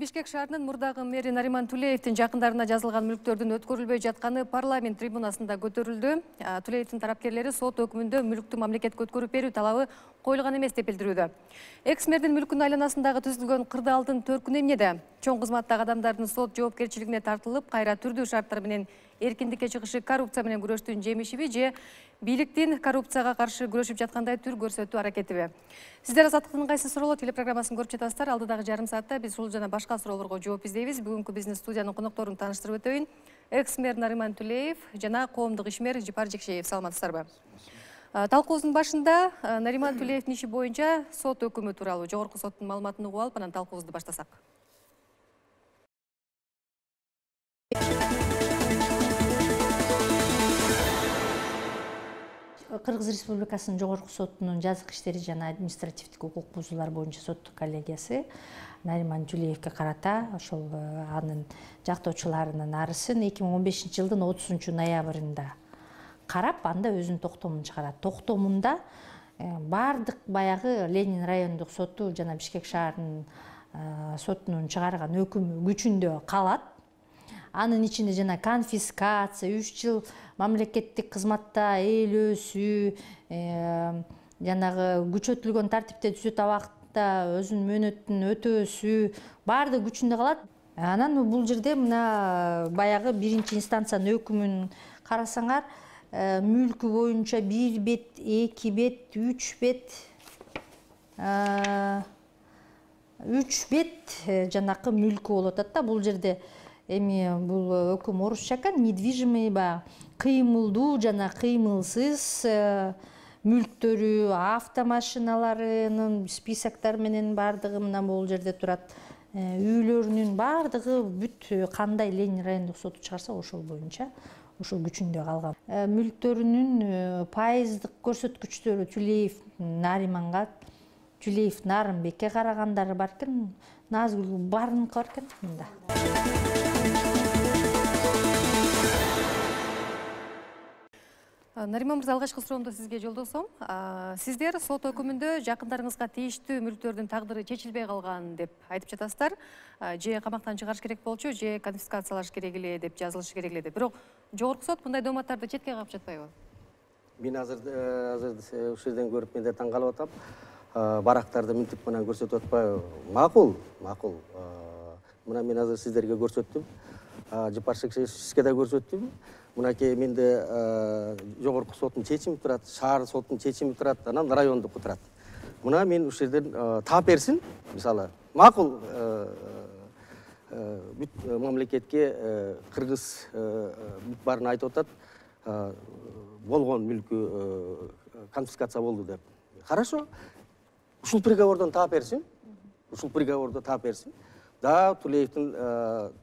Бишкек шаарынын мурдагы мэри Нариман Тулеевдин жакындарына жазылган мүлктөрдүн өткөрүлбөй жатканы парламент трибунасында көтөрүлдү. Тулеевдин тарапкерлери сот өкүмүндө мүлктү мамлекетке өткөрүп берүү талабы коюлган эмес деп билдирүүдө. Экс-мэрдин мүлкүнүн айланасындагы түзүлгөн кырдаалдын төркүнү эмнеде? Чоң кызматтагы адамдардын сот жоопкерчилигине тартылып, кайра түрдүү шарттар менен эркиндикке чыгышы коррупция менен күрөштүн жемишиби же бийликтин коррупцияга каршы күрөшүп жаткандай түр көрсөтүү аракетиби? Сиздер Азаттыктын кайсы суроолор телепрограммасын көрүп жатасыздар. Алдыдагы жарым саатта биз ушул жана башка суроолорго жооп издейбиз. Бүгүнкү биздин студиянын конокторун тааныштырып өтөйүн. Экс-мэр Нариман Тулеев жана коомдук ишмер Жипар Жекшеев. Саламатсыздарбы? Талкуубуздун башында Нариман Тулеевдин иши боюнча сот өкүмү тууралуу жогорку соттун маалыматын угуп алып, анан талкуубузду баштасак. Кыргыз Республикасынын жогорку сотунун жазык иштери жана административдик укук бузуулар боюнча соттук коллегиясы Нариман Тулеевге карата ошол анын жактоочуларынын арызын 2015 жылдын 30 ноябрында карап, анда өзүнүн токтомун чыгарат. Токтомунда баардык баягы Ленин райондук соту жана Бишкек шаарынын сотунун чыгарган өкүмү күчүндө калат. Анын ичинде жана конфискация, 3 жыл мамлекеттик кызматта ээлөөсү, жанагы күчөтүлгөн тартипте түзөт абакта өзүнүн мөөнөтүн өтөөсү баардыгы күчүндө калат. Анан бул жерде мына баягы биринчи инстанциянын өкүмүн карасаңар, мүлкү боюнча 1 бет, 2 бет, 3 бет, 3 бет жанакы мүлкү болуп атат да. Бул жерде эми бул өкүм орусча экен, недвижимый кыймылдуу жана кыймылсыз мүлктөрү, автомашиналарынын списоктор менен баардыгы мына бул жерде турат. Үйлөрүнүн баардыгы бүт кандай Ленин райондук соту чыгарса ошол боюнча ошол күчүндө калган. Мүлктөрүнүн пайыздык көрсөткүчтөрү Тулеев Нариманга, Тулеев Нарымбекке карагандары бар экен, Назгүл барыныкы бар экен мында. Нариман мырза, алгачкы суроомду сизге жолдосом. Сиздер сот өкүмүндө жакындарыңызга тийиштүү мүлктөрдүн тагдыры чечилбей калган деп айтып жатасыздар. Же камактан чыгарыш керек болчу, же конфискациялаш керек эле деп, жазылышы керек эле деп. Бирок жогорку сот мындай дооматтарды четке кагып жатпайбы? Мен азыр ушул жерден көрүп мен да таң калып атам. Барактарды мынтип менен көрсөтүп атпайбы? Макул. Мына мен азыр сиздерге көрсөттүм. Жипар Жекшеевке да көрсөттүм. Мынакей менде жогорку соттун чечими турат, шаар соттун чечими турат, анан райондук турат. Мына мен ушул жерден таап берсин, мисалы, макул бүт мамлекетке кыргыз бүт баарын айтып атат, болгон мүлкү конфискация болду деп. Хорошо. Ушул приговордон таап берсин. Да, Тулеевдин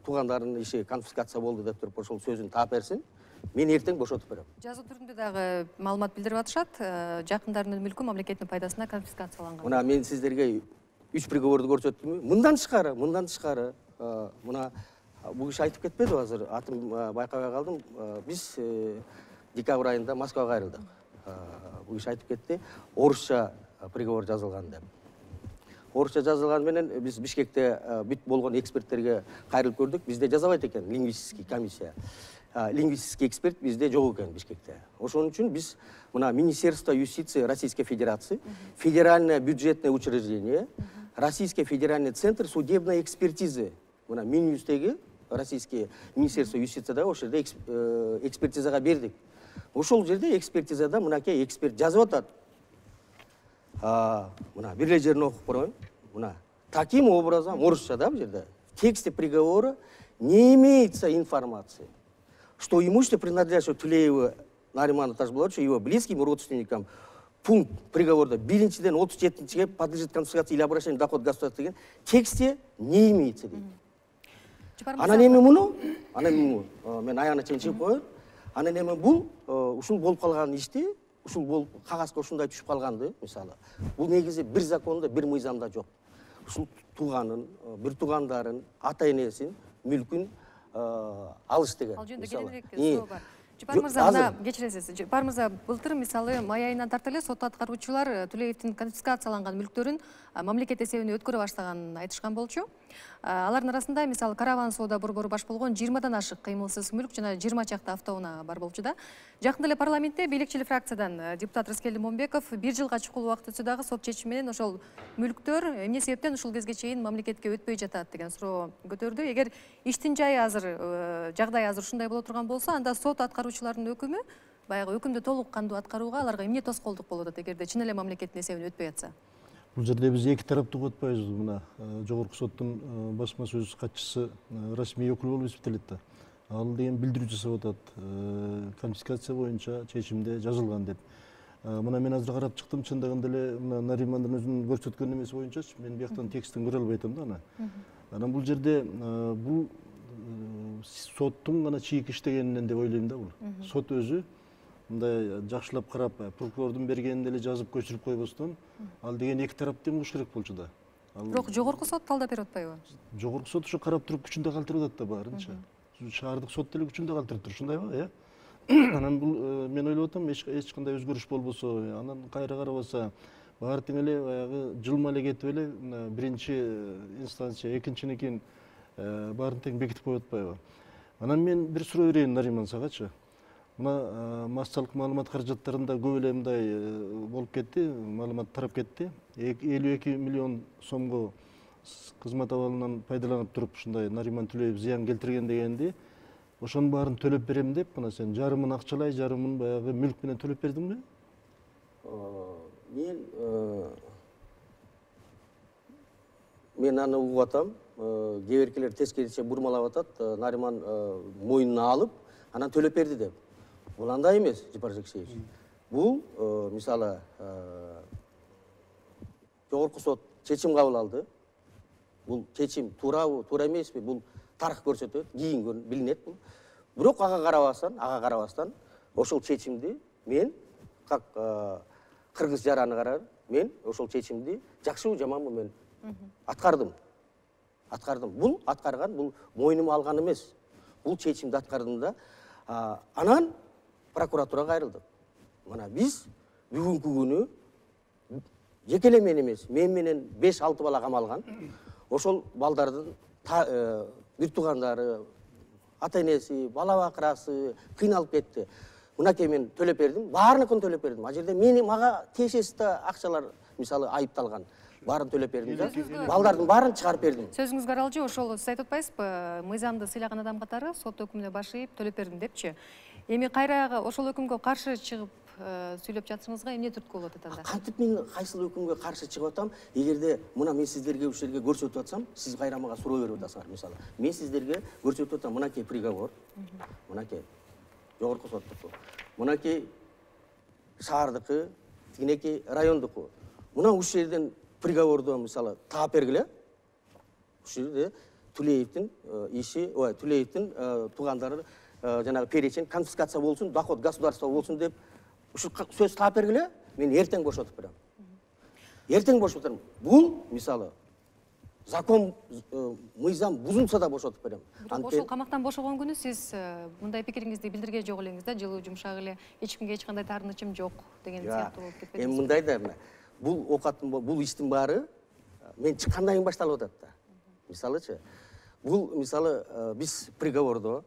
туугандарынын иши конфискация болду деп туруп ошол сөзүн таап берсин. Мен эртең бошотуп берем. Жазуу түрүндө дагы маалымат билдирип атышат. Жакындарынын мүлкү мамлекеттин пайдасына конфискацияланган. Мына мен сиздерге 3 приговорду көрсөттүмбү? Мындан тышкары. Мына бул киши айтып кетпеди азыр. Атым байкабай калдым. Биз декабрь айында Москвага кайрылдык. Бул киши айтып кетти, орусча приговор жазылган деп. Орусча жазылган менен биз Бишкекте бүт болгон эксперттерге кайрылып көрдүк. Бизде жазабайт экен лингвистический комиссия. Лингвистический эксперт бизде жок экен Бишкекте. Ошон үчүн биз мына Министерство юстиции Российской Федерации, Федеральное бюджетное учреждение, Российский федеральный центр судебной экспертизы. Мына Минюстеги Российский Министерство юстиции да ошол жерде экспертизага бердик. Ошол жерде экспертизада мынакей эксперт жазып атат. Мына бир эле жерин окуп коеюн. Мына таким образом орусча да бул жерде. В тексте приговора не имеется информации, что имущество, принадлежащее Тулееву Нариману Тажбулатовичу, его близким родственникам, пункт приговора 1-ден 37-ге подлежит конфискации или обращению в доход государства деген тексте не имеется дейт. Анан эми муну, мен аягына чейин чыгып коеюн. Анан эми бул ушул болуп калган ишти ушул болуп кагазга ушундай түшүп калганды, мисалы. Бул негизи бир закондо, бир мыйзамда жок. Ушул тууганын, бир туугандарын, ата-энесин, мүлкүн алыш деген. Ал жөнүндө кененирээк суроо бар. Жапар мырза, мына кечиресиз. Жапар мырза, былтыр мисалы май айынан тарта эле сот аткаруучулар Тулеевдин конфискацияланган мүлктөрүн мамлекет эсебине өткөрө баштаганын айтышкан болчу. Алардын арасында мисалы караван соода борбору баш болгон 20дан ашык кыймылсыз мүлк жана 20 чакта автоунаа бар болчу да. Жакында эле парламентте бийликчил фракциядан депутат Рыскелди Момбеков 1 жылга чукул убакыт өтсө дагы сот чечими менен ошол мүлктөр эмне себептен ушул кезге чейин мамлекетке өтпөй жатат деген суроо көтөрдү. Эгер иштин жайы азыр жагдай азыр ушундай боло турган болсо, анда сот аткаруучулардын өкүмү баягы өкүмдү толук кандуу аткарууга аларга эмне тоскоолдук болуп атат эгерде чын эле мамлекеттин эсебине өтпөй жатса? Бул жерде биз эки тараптуу атпайбыз. Мына жогорку соттун басма сөз катчысы расмий өкүл болуп эсептелет да. Ал деген билдирүү жасап атат. Конфискация боюнча чечимде жазылган деп. Мына мен азыр карап чыктым, чындыгында эле мына Наримандын өзүнүн көрсөткөн эмеси боюнчачы мен бияктан текстин көрө албай атам да аны. Анан бул жерде бул соттун гана чийик иштегенинен деп ойлойм да бул. Сот өзү мындай жакшылап карап, прокурордун бергенин эле жазып көчүрүп койбостон, ал деген эки тарапты угуш керек болчу да. Бирок жогорку сот талдап берип атпайбы? Жогорку сот ушу карап туруп күчүндө калтырып атат да баарынча. Шаардык сот деле күчүндө калтырып тур, ушундайбы, Анан бул мен ойлоп атам, эч кандай өзгөрүш болбосо, анан кайра карабаса, баары тең эле баягы жылма эле кетип эле биринчи инстанция, экинчинекин баарын тең бекитип коюп атпайбы? Анан мен бир суроо берейин Нариман сагачы. Мына массалык маалымат каражаттарында көп эле мындай болуп кетти, маалымат тарап кетти. 52 миллион сомго кызмат абалынан пайдаланып туруп ушундай Нариман Тулеев зыян келтирген дегенди, ошонун баарын төлөп берем деп, мына сен жарымын акчалай, жарымын баягы мүлк менен төлөп бердиңби? Мен аны угуп атам. Кээ биркилер тескерисинче бурмалап атат, Нариман мойнуна алып, анан төлөп берди деп. Бул андай эмес, Жапар Жекшеевич. Бул мисалы жогорку сот чечим кабыл алды. Бул чечим туурабы, туура эмеспи? Бул тарых көрсөтөт, кийин билинет бул. Бирок ага карабастан ошол чечимди мен как кыргыз жараны карар, мен ошол чечимди жакшыбы, жаманбы мен аткардым. Бул аткарган, бул мойнума алган эмес. Бул чечимди аткардым да. Анан прокуратурага кайрылдык. Мына биз бүгүнкү күнү жеке эле мен эмес, мен менен 5-6 бала камалган. Ошол балдардын бир туугандары, ата-энеси, бала бакырасы кыйналып кетти. Мынакей мен төлөп бердим, баарыныкын төлөп бердим. А жерде мага тиешеси да акчалар мисалы айыпталган. Баарын төлөп бердим да. Балдардын баарын чыгарып бердим. Сөзүңүзгө аралжы, ошол сиз айтып атпайсызбы? Мыйзамды сыйлаган адам катары сот өкүмүнө баш ийип төлөп бердим депчи. Эми кайра ошол өкүмгө каршы чыгып сүйлөп жатсаңызга эмне түрткү болот анда? Кантип мен кайсыл өкүмгө каршы чыгып атам? Эгерде мына мен сиздерге ушул жерге көрсөтүп атсам, сиз кайра мага суроо берип атасыңар мисалы. Мен сиздерге көрсөтүп атам, мынакей приговор, мынакей жогорку соттуку, мынакей шаардыкы, тигинекей райондуку. Мына ушул жерден приговорду мисалы таап бергиле. Ушул жерде Тулеевдин иши, Тулеевдин туугандары жанагы перечень конфискация болсун, доход государства болсун деп ушул сөз таап бергиле, мен эртең бошотуп берем. Эртең бошотуп берем. Бул мисалы закон, мыйзам бузулса да бошотуп берем. Ошол камактан бошогон күнү сиз мындай пикириңизди билдирген жок элеңиз да, жылуу жумшак эле, эч кимге эч кандай таарынычым жок деген сыяктуу болуп кетпедиңизби? Эми мындай да, бул окаттын, бул иштин баары мен чыккандан кийин башталып атат да. Мисалычы, бул мисалы биз приговордо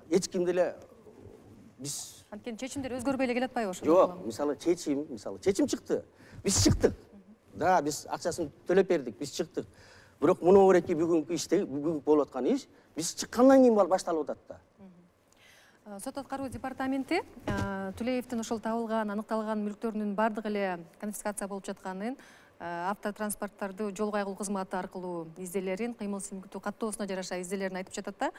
эч ким деле биз анткени чечимдер өзгөрбөй эле келе атпайбы ошол? Жок, мисалы чечим чыкты. Биз чыктык. Да, биз акчасын төлөп бердик, биз чыктык. Бирок муну ореки бүгүнкү иште, бүгүнкү болуп аткан иш биз чыккандан кийин башталып атат да. Сот аткаруу департаменти Тулеевдин ошол табылган, аныкталган мүлктөрүнүн бардыгы эле конфискация болуп жатканын, автотранспорттарды жол кайгылуу кызматы аркылуу изделерин, кыймылсыз мүлктү каттоосуна жараша изделерин айтып жатат да.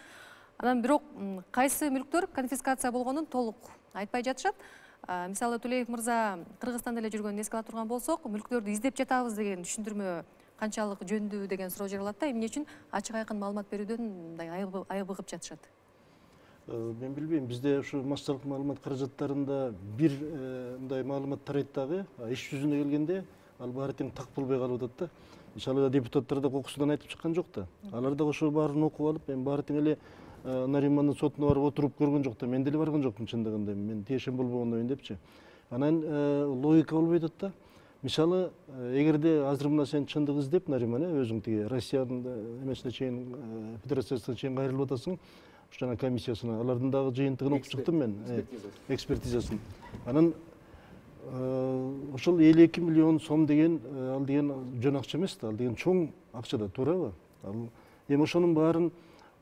Анан бирок кайсы мүлктөр конфискация болгонун толук айтпай жатышат. Мисалы Тулеев мырза Кыргызстанда эле жүргөнүн эске ала турган болсок, мүлктөрдү издеп жатабыз деген түшүндүрмө канчалык жөндүү деген суроо жаралат да. Эмне үчүн ачык айкын маалымат берүүдөн мындай айыбыгып жатышат? Мен билбейм, бизде ушу массалык маалымат каражаттарында бир мындай маалымат тарайт дагы, иш жүзүнө келгенде ал баары тең так болбой калып атат да. Мисалы депутаттар да кокусунан айтып чыккан жок да. Алар да ошо баарын окуп алып, мен баары тең эле Наримандын сотуна барып отуруп көргөн жок да. Мен деле барган жокмун чындыгында. Мен тиешем болбогондон кийин депчи. Анан логика болбой атат да. Мисалы, эгерде азыр мына сен чындык издеп, Нариман, өзүң тиги Россиянын эмесине чейин, федерациясына чейин кайрылып атасың, жана комиссиясына, алардын дагы жыйынтыгын окуп чыктым мен, экспертизасын. Анан ошол 52 миллион сом деген, ал деген жөн акча эмес да, ал деген чоң акча да, туурабы? Эми ошонун баарын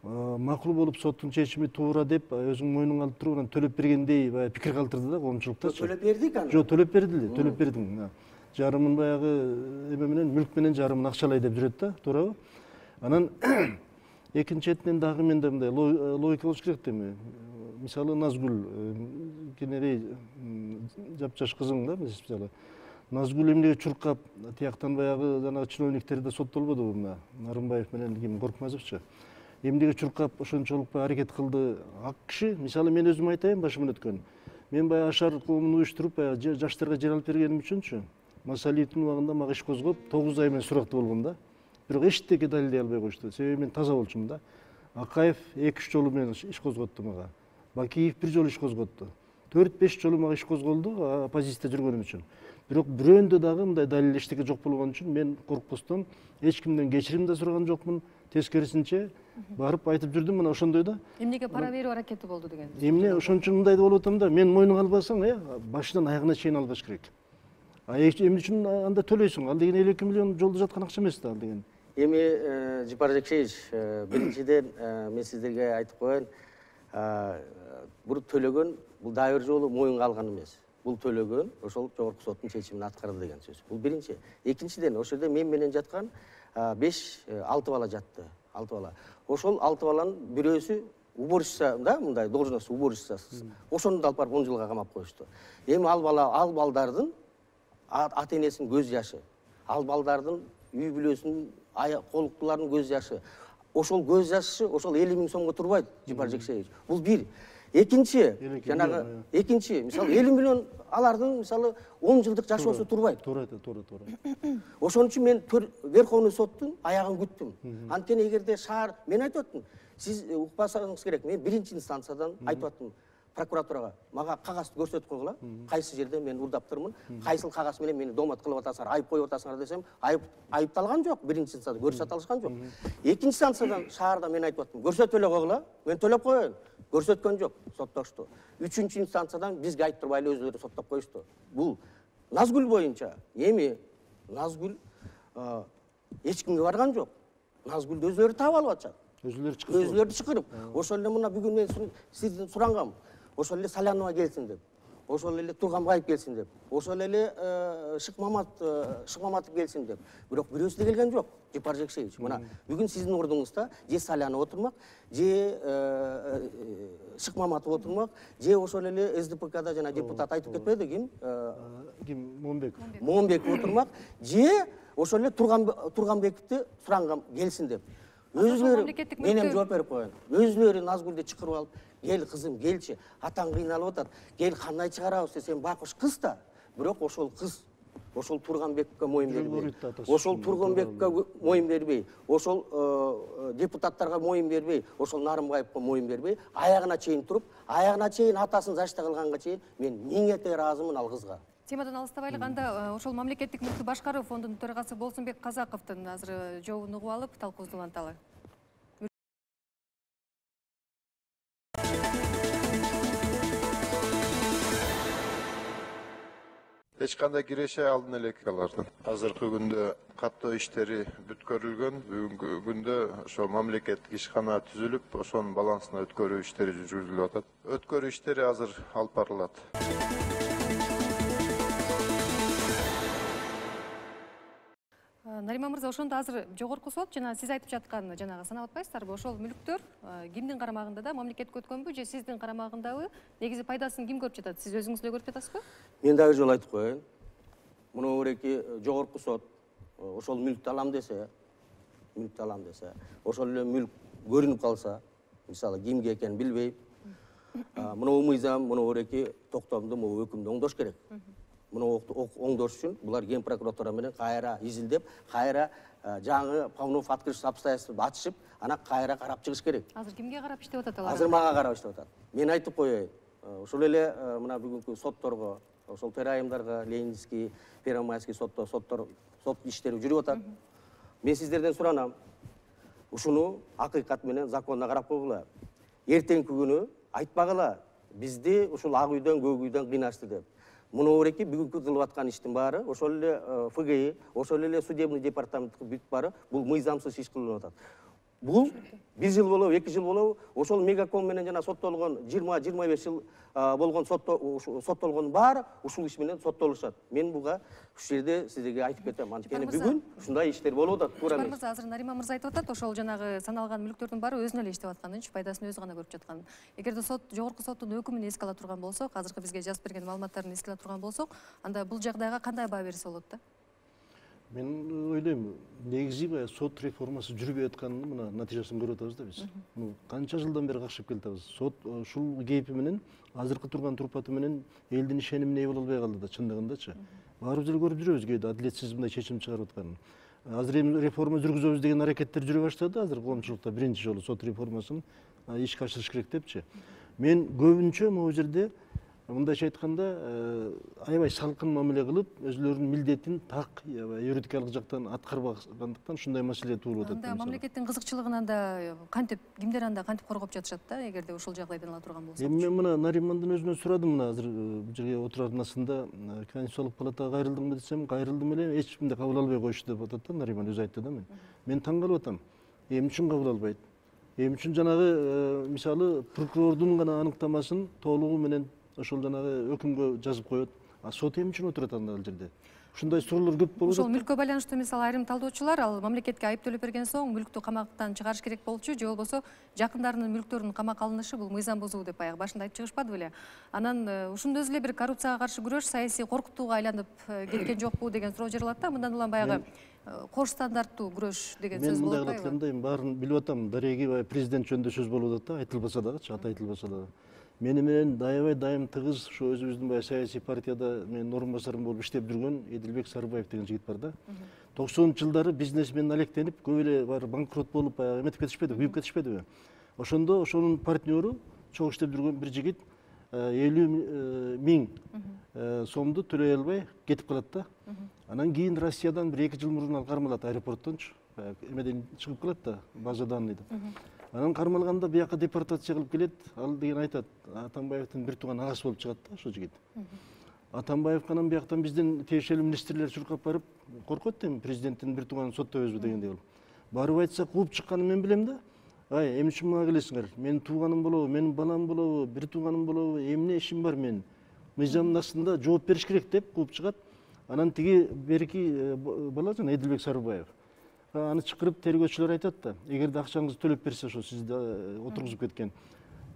макул болуп соттун чечими туура деп өзүң мойнуңа алып туруп анан төлөп бергендей пикир калтырды да коомчулуктачы. Төлөп бердик аны. Жок, төлөп бердиле, төлөп бердиң. Жарымын баягы эме менен, мүлк менен жарымын акчалай деп жүрөт да, туурабы? Анан экинчи четинен дагы менде мындай логика болуш керек да эми. Мисалы Назгүл кенерей жапжаш кызың да, мисалы. Назгүл эмнеге чуркап, тияктан баягы жанагы чиновниктер да соттолбодубу мына Нарымбаев менен ким Коркмазовчу. Эмнеге чуркап ошончолук аракет кылды ак киши. Мисалы мен өзүм айтайын башыман өткөн. Мен баягы Ашар коомун уюштуруп, баягы жаштарга жер алып бергеним үчүнчү. Масалиевдин убагында мага иш козгоп 9 ай менен сурактуу болгом да. Бирок эчтеке далилдей албай коюшту. Себеби мен таза болчумун да. Акаев 2-3 жолу менен иш козготту мага. Бакиев 1 жолу иш козготту. 4-5 жолу мага иш козголду оппозицияда жүргөнүм үчүн. Бирок бирөөндө дагы мындай далил эчтеке жок болгон үчүн мен коркпостон эч кимден кечирим да сураган жокмун. Тескерисинче барып айтып жүрдүм, мына ошондой да. Эмнеге пара берүү аракети болду деген. Эмне ошон үчүн мындай болуп атам да. Мен мойнуңа албасаң, башынан аягына чейин албаш керек. Эмне үчүн анда төлөйсүң? Ал деген 52 миллион жолдо жаткан акча эмес да ал деген. Эми Жапар Жекшеевич, биринчиден мен сиздерге айтып коеюн, бул төлөгөн бул дагы бир жолу моюнга алган эмес. Бул төлөгөн ошол жогорку соттун чечимин аткарды деген сөз. Бул биринчи. Экинчиден, ошол жерде мен менен жаткан 5-6 бала жатты. 6 бала. Ошол 6 баланын бирөөсү уборщица да, мындай должность уборщицасы. Ошону да алып барып 10 жылга камап коюшту. Эми ал балдардын ата энесинин көз жашы, ал балдардын үй бүлөсүнүн колуктуларынын көз жашы. Ошол көз жашы ошол 50 000 сомго турбайт, Жапар Жекшеевич. Бул бир. Экинчи, жанагы экинчи, мисалы 50 миллион алардын мисалы 10 жылдык жашоосу турбайт. Туура. Ошон үчүн мен Верховный соттун аягын күттүм. Анткени эгерде шаар, мен айтып аттым, сиз укпасаңыз керек, мен биринчи инстанциядан айтып аттым прокуратурага, мага кагазды көрсөтүп койгула, кайсы жерде мен урдаптырмын, кайсыл кагаз менен мени домат кылып атасыңар, айып коюп атасыңар десем, айыпталган жок, биринчи инстанцияда көрсөтө алышкан жок. Экинчи инстанциядан шаарда мен айтып аттым, көрсөтүп эле койгула, мен төлөп коеюн. Көрсөткөн жок, соттошту. Үчүнчү инстанциядан бизге айттырбай эле өзүлөрү соттоп коюшту. Бул Назгүл боюнча. Эми Назгүл эч кимге барган жок. Назгүлдү өзүлөрү таап алып атышат. Өзүлөрү чакырып. Ошол эле мына бүгүн мен сизден сурангам. Ошол эле Салянова келсин деп. Ошол эле Турганбаев келсин деп. Ошол эле Шыкмаматов келсин деп. Бирок бирөөсү да келген жок, Жапар Жекшеевич. Мына бүгүн сиздин ордуңузда же Салянова отурмак, же Шыкмаматов отурмак, же ошол эле СДПКда жана депутат айтып кетпеди ким? Момбеков отурмак, же ошол эле Турганбековду сурангам келсин деп. Өзүлөрү менен жооп берип коеюн. Өзүлөрү Назгүлдү чакырып алып, кел кызым, келчи, атаң кыйналып атат. Кел кандай чыгарабыз десем, байкуш кыз да. Бирок ошол кыз, ошол Турганбековго моюн бербей, ошол Турганбековго моюн бербей, ошол депутаттарга моюн бербей, ошол Нарымбаевго моюн бербей, аягына чейин туруп, аягына чейин атасын защита кылганга чейин мен миң эте ыраазымын ал кызга. Темадан алыстабайлык, анда ошол мамлекеттик мүлктү башкаруу фондунун төрагасы Болсунбек Казаковдун азыр жообун угуп алып, талкуубузду уланталы. Эч кандай киреше алдын эле алардын. Азыркы күндө каттоо иштери бүткөрүлгөн. Бүгүнкү күндө ошо мамлекеттик ишкана түзүлүп, ошонун балансына өткөрүү иштери жүргүзүлүп атат. Өткөрүү иштери азыр алып барылат. Нариман мырза, ошондо азыр жогорку сот жана сиз айтып жаткан жанагы санап атпайсыздарбы? Ошол мүлктөр кимдин карамагында да, мамлекетке өткөнбү же сиздин карамагындабы? Негизи пайдасын ким көрүп жатат? Сиз өзүңүз эле көрүп жатасызбы? Мен дагы жолу айтып коеюн. Муну өреки жогорку сот ошол мүлктү алам десе, ошол эле мүлк көрүнүп калса, мисалы кимге экенин билбей, Мынау мыйзам, мынау эреки токтомду, могу өкүмдү оңдош керек. Мынау оңдош үчүн булар ген прокуратура менен кайра изилдеп, кайра жаңы Павлов открытый обстоятельстводу ачышып, ана кайра карап чыгыш керек. Азыр кимге карап иштеп атат алар? Азыр мага карап иштеп атат. Мен айтып коеюн. Ошол эле мына бүгүнкү сотторго, ошол терайымдарга, Ленинский, Первомайский сот иштери жүрүп атат. Мен сиздерден суранам. Ушуну акыйкат менен закондо карап койгула. Эртеңки күнү айтпагыла. Бизди ушул ак үйдөн, көк үйдөн кыйнашты деп. Муну эреки бүгүнкү кылып аткан иштин баары, ошол эле ФГИ, ошол эле судебный департамент бүт баары бул мыйзамсыз иш кылынып атат. Бул 1 жыл болобу, 2 жыл болобу, ошол Мегаком менен жана соттолгон 20-25 жыл болгон соттолгон баары ушул иш менен соттолушат. Мен буга ушул жерде сиздерге айтып кетем. Анткени бүгүн ушундай иштер болуп атат. Туура эмес. Азыр Нариман мырза айтып атат, ошол жанагы саналган мүлктөрдүн баары өзүнө эле иштеп атканынчы, пайдасын өзү гана көрүп жатканын. Эгерде жогорку соттун өкүмүн эске ала турган болсок, азыркы бизге жазып берген маалыматтарын эске ала турган болсок, анда бул жагдайга кандай баа берсе болот да? Мен ойлойм, негизи баягы сот реформасы жүрбөй атканын мына натыйжасын көрүп атабыз да биз. Канча жылдан бери кашып келатабыз. Сот ушул кейпи менен, азыркы турган турпаты менен элдин ишенимине ээ боло албай калды да, чындыгындачы. Баарыбыз эле көрүп жүрөбүз кээде адилетсиз мындай чечим чыгарып атканын. Азыр эми реформа жүргүзөбүз деген аракеттер жүрө баштады азыр коомчулукта биринчи жолу сот реформасын ишке ашырыш керек депчи. Мен көбүнчө могу жерде мындайча айтканда аябай салкын мамиле кылып, өзүлөрүнүн милдетин так юридикалык жактан аткарбагандыктан ушундай маселе туулуп атат. Анда мамлекеттин кызыкчылыгын анда кантип, кимдер анда кантип коргоп жатышат да, эгерде ушул жагдайдан ала турган болсок? Эми мен мына Наримандын өзүнөн сурадым, мына азыр бул жерге отурарнасында Конституциялык палатага кайрылдыңбы десем, кайрылдым эле, эч кимди кабыл албай коюшту деп атат да, Нариман өзү айтты да мен. Мен таң калып атам. Эмне үчүн кабыл албайт? Эмне үчүн жанагы мисалы прокурордун гана аныктамасын толугу менен ошол жанагы өкүмгө жазып коет. А сот эмне үчүн отурат анда ал жерде? Ушундай суроолор көп болуп атат. Ошол мүлккө байланыштуу мисалы айрым талдоочулар ал мамлекетке айып төлөп берген соң мүлктү камактан чыгарыш керек болчу, же болбосо жакындарынын мүлктөрүнүн камакка алынышы бул мыйзам бузуу деп баягы башында айтып чыгышпады беле? Анан ушунда өзү эле бир коррупцияга каршы күрөш саясий коркутууга айланып кеткен жокпу деген суроо жаралат да. Мындан улам баягы кош стандарттуу күрөш деген сөз болот. Мен мындай кылып атканда баарын билип атам. Дареги президент жөнүндө сөз болуп атат да, айтылбаса дагычы, аты айтылбаса дагы. Мени менен аябай дайым тыгыз ушу өзүбүздүн баягы саясий партияда менин орун басарым болуп иштеп жүргөн Эдилбек Сарыбаев деген жигит бар да. 90-жылдары бизнесмен алектенип, көп эле бар банкрот болуп баягы эметип кетишпеди, күйүп кетишпедиби? Ошондо ошонун партнеру чогуу иштеп жүргөн бир жигит 50 000 сомду төлөй албай кетип калат да. Анан кийин Россиядан бир 2 жыл мурун ал кармалат аэропорттончу. Эмеден чыгып калат да, база данныйдан. Анан кармалганда бияка депортация кылып келет. Ал деген айтат, Атамбаевдин бир тууган агасы болуп чыгат да ошол жигит. Атамбаевга анан бияктан биздин тиешелүү министрлер чуркап барып, коркот эми президенттин бир тууганын соттобойбузбу дегендей болуп. Барып айтса кууп чыкканын мен билем да. Ай, эмне үчүн мага келесиңер? Менин тууганым болобу, менин балам болобу, бир тууганым болобу, эмне ишим бар менин? Мыйзамдын астында жооп бериш керек деп кууп чыгат. Анан тиги берки бала жана Эдилбек Сарыбаев. Аны чакырып тергөөчүлөр айтат да, эгерде акчаңызды төлөп берсе, ошо сизди отургузуп кеткен.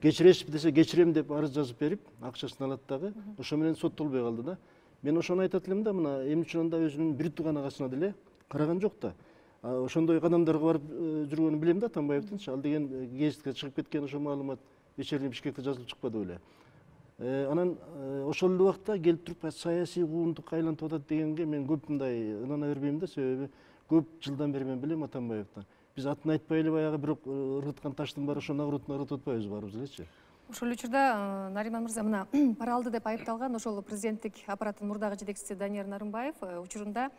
Кечиресизби десе, кечирем деп арыз жазып берип, акчасын алат дагы, ошо менен соттолбой калды да. Мен ошону айтат элем да, мына эмне үчүн анда өзүнүн бир тууган агасына деле караган жок да. Ошондой кадамдарга барып жүргөнүн билем да Атамбаевдинчи. Ал деген гезитке чыгып кеткен ошо маалымат вечерний Бишкекте жазылып чыкпады беле. Анан ошол эле убакта келип туруп саясий куугунтукка айлантып атат дегенге мен көп мындай ынана бербейм да, себеби көп жылдан бери мен билем Атамбаевди. Биз атын айтпай эле баягы бирок ыргыткан таштын баары ошону ыргытып атпайбыз баарыбыз элечи. Ошол учурда Нариман мырза мына пара алды деп айыпталган ошол президенттик аппараттын мурдагы жетекчиси Данияр Нарымбаев учурунда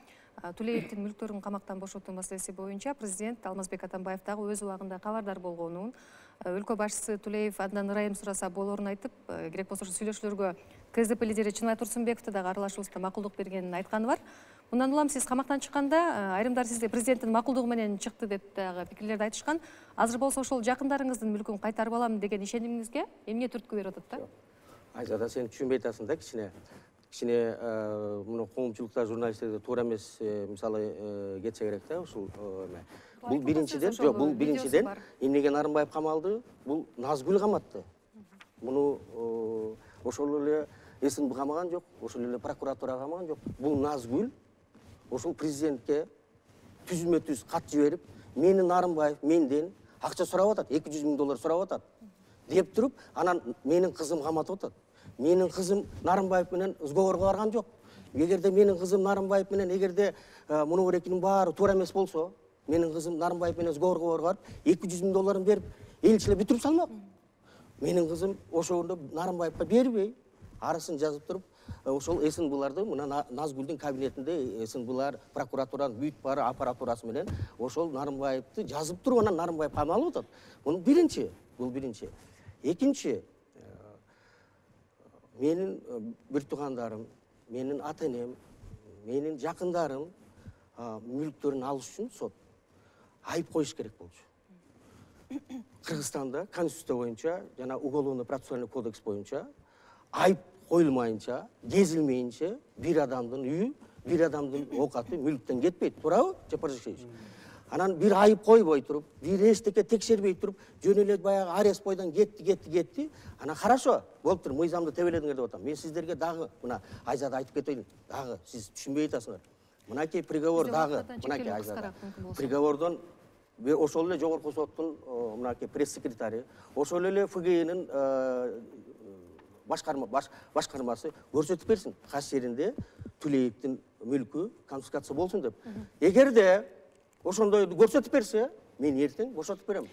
Тулеевдин мүлктөрүн камактан бошотуу маселеси боюнча президент Алмазбек Атамбаев дагы өз убагында кабардар болгонун, өлкө башчысы Тулеев андан ырайым сураса болоорун айтып, керек болсо сүйлөшүүлөргө КСДП лидери Чынай Турсунбековду дагы аралашуусунда макулдук бергенин айтканы бар. Мындан улам сиз камактан чыкканда айрымдар сизге президенттин макулдугу менен чыкты деп дагы пикирлерди айтышкан. Азыр болсо ошол жакындарыңыздын мүлкүн кайтарып алам деген ишенимиңизге эмне түрткү берип атат да? Айзада, сен түшүнбөй атасың да кичине муну коомчулукта журналисттерге туура эмес мисалы кетсе керек да ушул эме. Бул биринчиден эмнеге Нарымбаев камалды? Бул Назгүл каматты. Муну ошол эле СНБ камаган жок, ошол эле прокуратура камаган жок. Бул Назгүл ошол президентке түзмө-түз кат жиберип, мени Нарымбаев менден акча сурап атат, $200 000 сурап атат. деп туруп, анан менин кызым каматып атат. Менин кызым Нарымбаев менен сговорго барган жок. Эгерде менин кызым Нарымбаев менен, эгерде муну экинин баары туура эмес болсо, менин кызым Нарымбаев менен сговорго барып, $200,000 берип, элчилер бүтүрүп салмак. Менин кызым ошондо Нарымбаевга бербей, арысын жазып туруп, ошол эсин буларды мына Назгүлдүн кабинетинде эсин булар прокуратуранын бүт баары аппаратурасы менен ошол Нарымбаевди жазып туруп, анан Нарымбаев камалып атат. Бул биринчи. Экинчи, менин бир туугандарым, менин ата-энем, менин жакындарым мүлктөрүн алыш үчүн сот айып коюш керек болчу. Кыргызстанда конституция боюнча жана уголовно процессуальный кодекс боюнча айып коюлмайынча, кезилмейинче бир адамдын үйү, бир адамдын оокаты мүлктөн кетпейт. Туурабы, Жапар Жекшеевич? Анан бир айып койбой туруп, бир эчтеке текшербей туруп, жөн эле баягы арест бойдон кетти. Анан хорошо, болуптур, мыйзамды тебеледиңер деп атам. Мен сиздерге дагы мына Айзада айтып кетейин. Дагы сиз түшүнбөй атасыңар. Мынакей приговор дагы, мынакей Айзада. Приговордон ошол эле жогорку соттун мынакей пресс-секретари, ошол эле ФГИнин башкармасы көрсөтүп берсин. Кайсы жеринде Тулеевдин мүлкү конфискация болсун деп. Эгерде ошондой көрсөтүп берсе, мен эртең бошотуп берем.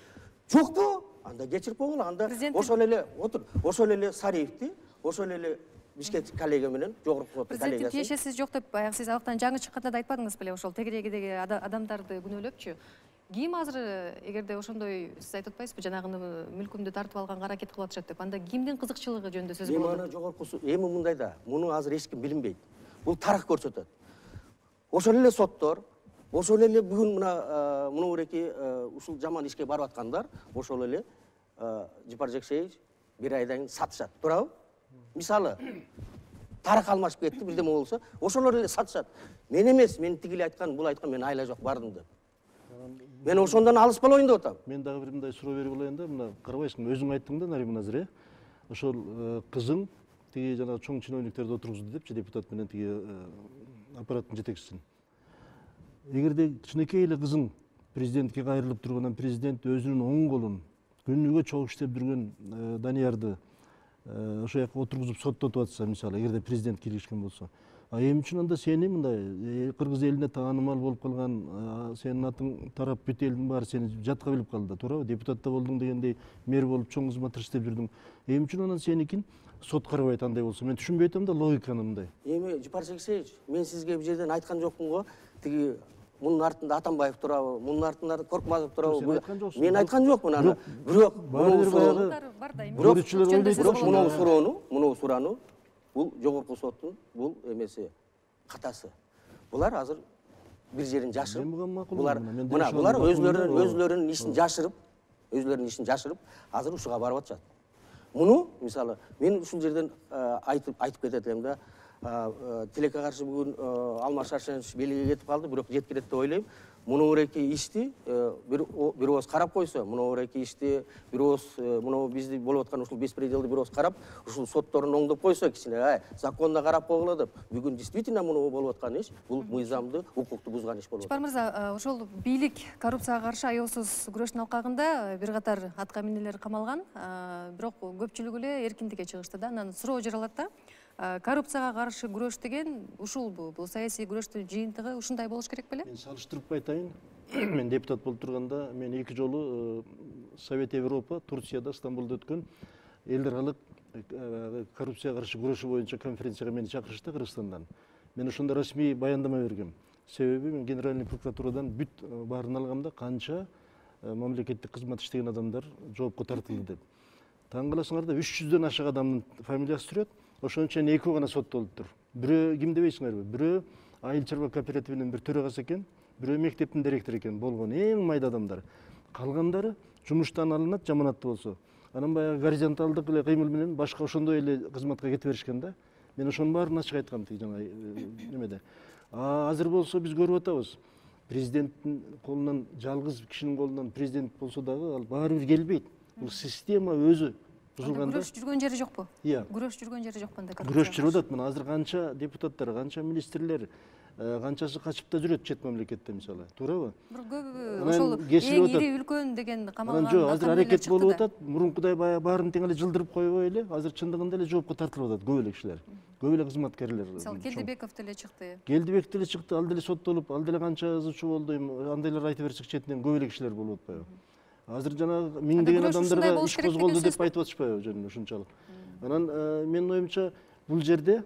Жокпу? Анда кечирип койгула, анда ошол эле Сариевди, ошол эле Бишкек коллега менен жогорку соттун коллегасы. Президенттин тиешеси жок деп баягы сиз алыктан жаңы чыкканда да айтпадыңыз беле, ошол тегерегидеги адамдарды күнөөлөпчү. Ким азыр эгерде ошондой сиз айтып атпайсызбы, жанагы мүлкүмдү тартып алганга аракет кылып атышат деп, анда кимдин кызыкчылыгы жөнүндө сөз болот? Эми мындай да, муну азыр эч ким билинбейт. Бул тарых көрсөтөт. Ошол эле соттор, ошол эле бүгүн мына мынуреки ушул жаман ишке барып аткандар, ошол эле Жапар Жекшеевич бир айдан кийин сатышат. Туурабы? Мисалы, тарых алмашып кетти, бирдеме болсо, ошолор эле сатышат. Мен эмес, мен тигили айткан, бул айткан, мен айла жок бардым деп. Мен ошондон алыспалайын деп атам. Мен дагы бир мындай суроо берип алайын да, мына карабайсыңбы, өзүң айттың да, Нариман азыр, ошол кызың тиги жана чоң чиновниктерди отургузду депчи, депутат менен тиги аппараттын жетекчисин. Эгерде кичинекей эле кызың президентке кайрылып тургандан президент өзүнүн оң колун күнүгө чогуу иштеп жүргөн Даниярды ошол жака отургузуп соттотуп атса, мисалы, эгерде президент киришкен болсо, эмне үчүн анда сени мындай кыргыз элине таанымал болуп калган, сенин атың тарап бүт элдин баары сени жатка билип калды да, туурабы? Депутатта болдуң дегендей, мэр болуп чоң кызматты иштеп жүрдүң. Эмне үчүн анан сеникин сот карабайт андай болсо? Мен түшүнбөй атам да логиканы мындай. Эми Жапар Жекшеевич, мен сизге бул жерден айткан жокмун го, тиги мунун артында Атамбаев турабы, мунун артында Коркмазов турабы. Мен айткан жокмун аны. Бирок мунун суроону бул жогорку соттун бул эмеси катасы. Булар азыр бир жерин жашырып, булар өзлөрүнүн ишин жашырып, азыр ушуга барып атышат. Муну мисалы мен ушул жерден айтып кетет элем да, тилекке каршы бүгүн Алмаз Шаршенович белге кетип калды, бирок жеткирет деп ойлойм. Муну эки ишти бир ооз карап койсо, муну эки ишти бир ооз муну бизди болуп аткан ушул беспределди бир ооз карап, ушул сотторун оңдоп койсо, кичине законно карап койгула деп. Бүгүн действительно муну болуп аткан иш, бул мыйзамды, укукту бузган иш болуп Жапар атат. мырза, ошол бийлик коррупцияга каршы аеосуз күрөштүн алкагында бир катар атка минелер камалган, бирок көпчүлүгү эле эркиндикке чыгышты да. Анан суроо жаралат да. Коррупцияга каршы күрөш деген ушулбу? Бул саясий күрөштүн жыйынтыгы ушундай болуш керек беле? Мен салыштырып айтайын. Мен депутат болуп турганда, мен 2 жолу Совет Европа, Турцияда, Стамбулда өткөн элдер аралык коррупцияга каршы күрөшүү боюнча конференцияга мени чакырышты Кыргызстандан. Мен ошондо расмий баяндама бергем. Себеби мен Генеральный прокуратурадан бүт баарын алгамда канча мамлекеттик кызмат иштеген адамдар жоопко тартылды деп. Таң каласыңар да 300дөн ашык адамдын фамилиясы жүрөт. Ошончо 2 гана соттолуптур. Бирөө ким дебейсиңерби? Бирөө айыл чарба кооперативинин бир төрагасы экен, бирөө мектептин директору экен, болгон эң майда адамдар. Калгандары жумуштан алынат, жаманатты болсо. Анан баягы горизонталдык эле кыймыл менен башка ошондой эле кызматка кетип беришкен да. Мен ошонун баарын ачык айткам тиги жана немеде. Азыр болсо биз көрүп атабыз. Президенттин колунан, жалгыз кишинин колунан президент болсо дагы ал баары бир келбейт. Бул система өзү бузулганда күрөш жүргөн жери жокпу? Иә. Күрөш жүргөн жери жокпу анда? күрөш жүрүп атат. Мына азыр канча депутаттар, канча министрлер, канчасы качып да жүрөт чет мамлекетте мисалы. Туурабы? Бир көбү Анан ошол кесилип эң атат. ири үлкөн деген камалган. Анан жок, азыр аракет болуп атат. Мурункудай баягы баарын тең эле жылдырып койбой эле, азыр чындыгында эле жоопко тартылып атат көп эле кишилер. Көп эле кызматкерлер. Мисалы Келдибеков деле чыкты. Келдибек деле чыкты, ал деле соттолуп, ал деле канча ызычуу болду. Андайлар айтып берсек четинен көп эле кишилер болуп атпайбы? Азыр жанагы миңдеген адамдарга иш козголду деп айтып атышпайбы жөн ушунчалык. Анан менин оюмча бул жерде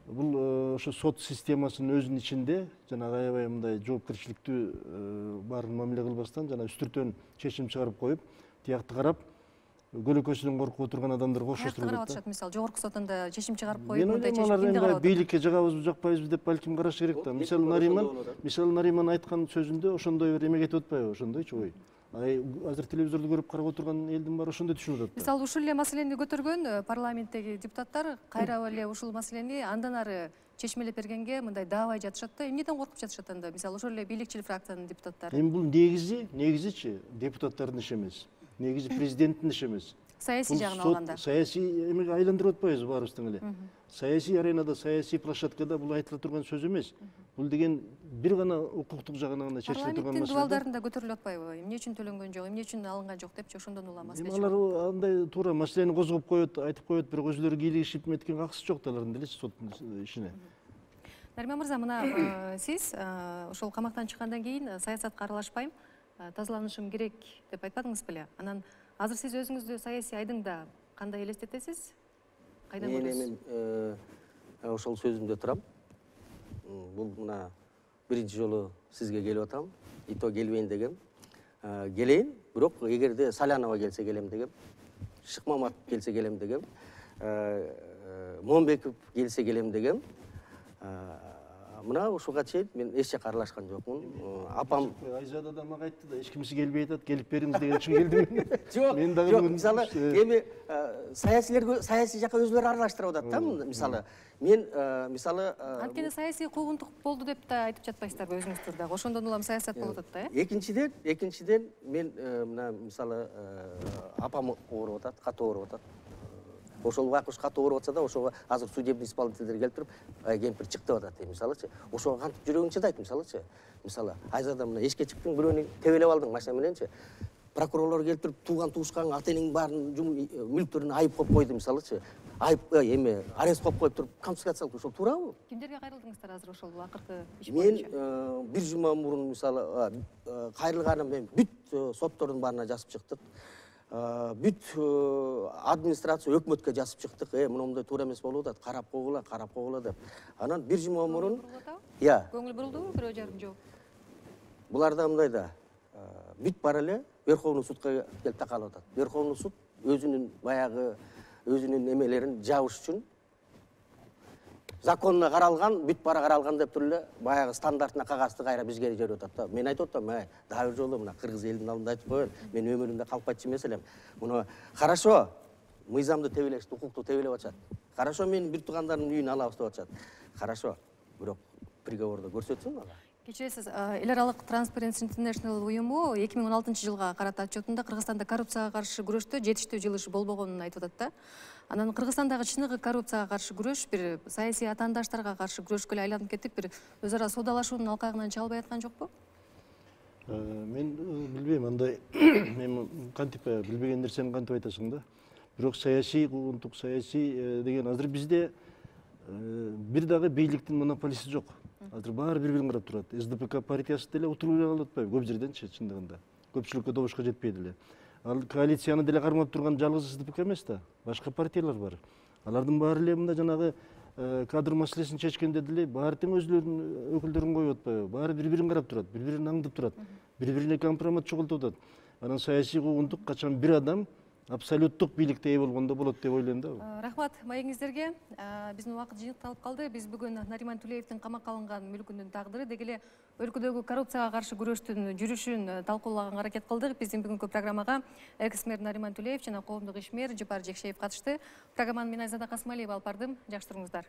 бул ошо сот системасынын өзүнүн ичинде жанагы аябай мындай жоопкерчиликтүү баарын мамиле кылбастан жана үстүртөн чечим чыгарып коюп, тиякты карап, көлөкөсүнөн коркуп отурган адамдарга окшоштуруп карап атат. атышат, мисалы жогорку соттунда чечим чыгарып коюп, Мен мындай ойлойм, чечим кимди алар карап бийликке жагабызбы, жакпайбызбы деп балким караш керек да. Мисалы Нариман айткан сөзүндө ошондой бир эме кетип атпайбы, ошондойчу ой. Азыр телевизорду көрүп карап отурган элдин баары ошондой түшүнүп атат. Мисалы ушул эле маселени көтөргөн парламенттеги депутаттар кайра эле ушул маселени андан ары чечмелеп бергенге мындай даабай жатышат да. Эмнеден коркуп жатышат анда? Мисалы ошол эле бийликчил фракциянын депутаттары. Эми бул негизичи депутаттардын иши эмес. Негизи президенттин иши эмес. Саясий жагын алганда. Саясий эмеге айландырып атпайбызбы баарыбыз тең эле. Саясий аренада, саясий площадкада бул айтыла турган сөз эмес. Бул деген бир гана укуктук жагынан гана чечиле турган Парламенттин маселе. дубалдарында көтөрүлүп атпайбы? Эмне үчүн төлөнгөн жок, эмне үчүн алынган жок депчи ошондон улам маселе чыгат. Алар андай туура маселени козгоп коет, айтып коет, бирок өзүлөрү кийлигишип эметкен акысы жок да алардын делечи соттун ишине. Нариман мырза, мына сиз ошол камактан чыккандан кийин саясатка аралашпайм, тазаланышым керек деп айтпадыңыз беле? Анан азыр сиз өзүңүздү саясий айдыңда кандай элестетесиз? Кайдан көрөсүз? Мен ошол сөзүмдө турам. Бул мына биринчи жолу сизге келип атам. И то келбейин дегем. Келейин, бирок эгерде Салянова келсе келем дегем. Шыкмаматов келсе келем дегем. Момбеков келсе келем дегем. Мына ушуга чейин мен эч жака аралашкан жокмун. Апам Айзада да мага айтты да, эч кимиси келбей атат, келип бериңиз деген үчүн келдим. Жок, мен дагы жок, мисалы эми саясий жака өзүлөрү аралаштырып атат да. Мисалы мен мисалы Анткени саясий куугунтук болду деп да айтып жатпайсыздарбы өзүңүздөр дагы? Ошондон улам саясат болуп атат да, э? Экинчиден мен мына мисалы апам ооруп атат, катуу ооруп атат. Ошол байкуш катуу ооруп атса да, ошого азыр судебный исполнительдер келип туруп, кемпир чык деп атат, мисалычы. Ошого кантип жүрөгүң чыдайт, мисалычы. Мисалы, Айзада мына эшикке чыктың, бирөөнү тебелеп алдың машина мененчи. Прокурорлор келип туруп, тууган туушкан ата-энеңдин баарын мүлктөрүнө айып коюп койду, мисалычы. Айып эме арест коюп коюп туруп, конфискация кылып, ошол туурабы? Кимдерге кайрылдыңыздар азыр ошол акыркы иш Мен боюнча? бир жума мурун мисалы кайрылганым мен бүт соттордун баарына жазып чыктык. Бүт администрация өкмөткө жазып чыктык. Мындай туура эмес болуп атат, карап койгула деп. Анан бир жума мурун Көңүл бурулдубу, бирөө жарым жок? Буларда мындай да бүт бара эле Верховный судка келип такалып атат. Верховный суд өзүнүн баягы өзүнүн эмелерин жабыш үчүн законуна каралган, бүт бара каралган деп туруп эле баягы стандартына кагазды кайра бизге жиберип атат да. Мен айтып атам, дагы бир жолу мына кыргыз элинин алдында айтып коеюн. Мен өмүрүмдө калпайтчу эмес элем. Муну хорошо, мыйзамды тебелешти, укукту тебелеп атышат. Хорошо, менин бир туугандарымдын үйүн алабыз деп атышат. Хорошо, бирок приговорду көрсөтсүн ага. Кечиресиз, эл аралык Transparency International уюму 2016-жылга карата отчетунда Кыргызстанда коррупцияга каршы күрөштө жетиштүү жылыш болбогонун айтып атат да. Анан Кыргызстандагы чыныгы коррупцияга каршы күрөш бир саясий атаандаштарга каршы күрөшкө эле айланып кетип, бир өз ара соодалашуунун алкагынан чыга албай аткан жокпу? Мен билбейм, андай мен кантип билбеген нерсени кантип айтасың да. Бирок саясий куугунтук, саясий деген азыр бизде бир дагы бийликтин монополисти жок. Азыр баары бири-бирин карап турат. СДПК партиясы деле утуруп эле калып атпайбы көп жерденчи чындыгында. Көпчүлүккө добушка жетпей деле. Ал коалицияны деле кармап турган жалгыз СДПК эмес да. Башка партиялар бар. Алардын баары эле мында жанагы кадр маселесин чечкенде деле баары тең өзүлөрүнүн өкүлдөрүн коюп атпайбы. Баары бири-бирин карап турат, бири-бирин аңдып турат, бири-бирине компромат чогултуп атат. Анан саясий куугунтук качан бир адам абсолюттук бийликте ээ болгондо болот деп ойлойм да. Рахмат маегиңиздерге. Биздин убакыт жыйынталып калды. Биз бүгүн Нариман Тулеевдин камакка алынган мүлкүнүн тагдыры, деги эле өлкөдөгү коррупцияга каршы күрөштүн жүрүшүн талкуулаганга аракет кылдык. Биздин бүгүнкү программага экс-мэр Нариман Тулеев жана коомдук ишмер Жапар Жекшеев катышты. Программаны мен Айзада Касымалиева алып бардым. Жакшы туруңуздар.